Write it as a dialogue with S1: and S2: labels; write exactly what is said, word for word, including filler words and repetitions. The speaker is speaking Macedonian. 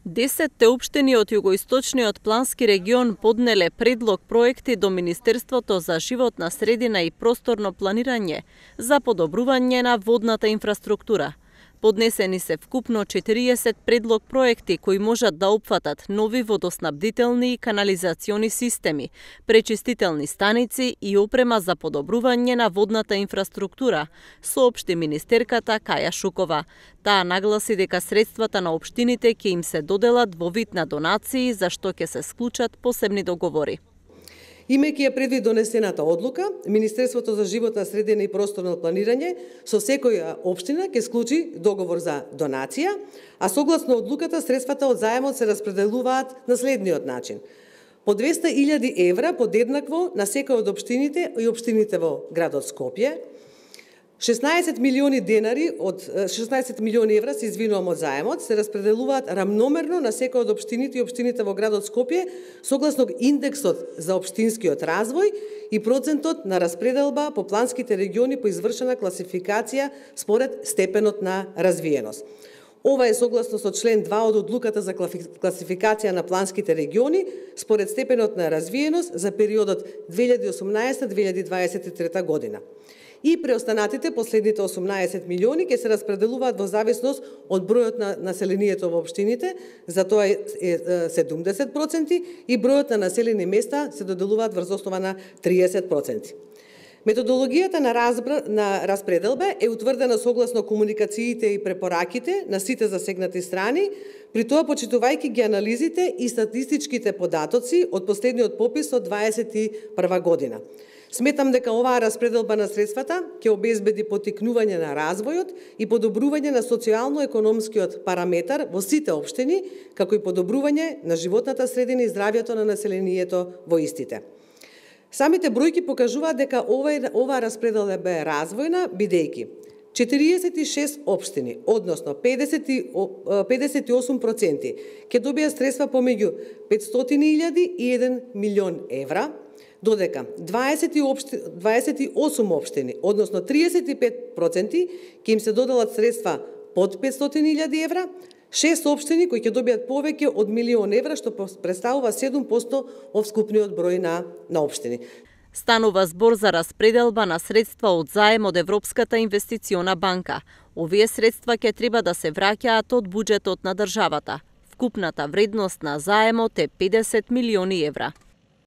S1: Десетте општини од југоисточниот плански регион поднеле предлог проекти до Министерството за животна средина и просторно планирање за подобрување на водната инфраструктура. Поднесени се вкупно четириесет предлог проекти кои можат да опфатат нови водоснабдителни и канализациони системи, пречистителни станици и опрема за подобрување на водната инфраструктура, соопшти министерката Каја Шукова. Таа нагласи дека средствата на општините ќе им се доделат во вид на донации, за што ќе се склучат посебни договори.
S2: Имајќи ја предвид донесената одлука, Министерството за животна средина и просторно планирање со секоја општина ќе склучи договор за донација, а согласно одлуката средствата од заемот се распределуваат на следниот начин. По двесте илјади евра подеднакво на секој од општините и општините во градот Скопје, шеснаесет милиони денари од шеснаесет милиони евра се извинувам од заемот се распределуваат рамномерно на секој од општините и општините во градот Скопје согласно индексот за општинскиот развој и процентот на распределба по планските региони по извршена класификација според степенот на развиеност. Ова е согласно со член два од одлуката за класификација на планските региони според степенот на развиеност за периодот две илјади и осумнаесета до две илјади дваесет и трета година. И преостанатите последните осумнаесет милиони ќе се распределуваат во зависност од бројот на населението во општините, за тоа е седумдесет проценти, и бројот на населени места се доделуваат врз основа на триесет проценти. Методологијата на, разбра, на распределба е утврдена согласно комуникациите и препораките на сите засегнати страни, при тоа почитувајќи ги анализите и статистичките податоци од последниот попис од дваесет и прва година. Сметам дека оваа распределба на средствата ќе обезбеди поттикнување на развојот и подобрување на социјално-економскиот параметар во сите општини, како и подобрување на животната средина и здравјето на населението во истите. Самите бројки покажуваат дека ова, оваа распределба е развојна, бидејќи четириесет и шест општини, односно педесет и осум проценти, ќе добијат средства помеѓу петстотини илјади и еден милион евра, додека дваесет и осум општини, односно триесет и пет проценти, ќе им се доделат средства под петстотини илјади евра, шест општини кои ќе добијат повеќе од милион евра, што представува седум проценти од вкупниот број на, на општини.
S1: Станува збор за распределба на средства од заем од Европската инвестициона банка. Овие средства ќе треба да се враќаат од буџетот на државата. Вкупната вредност на заемот е педесет милиони евра.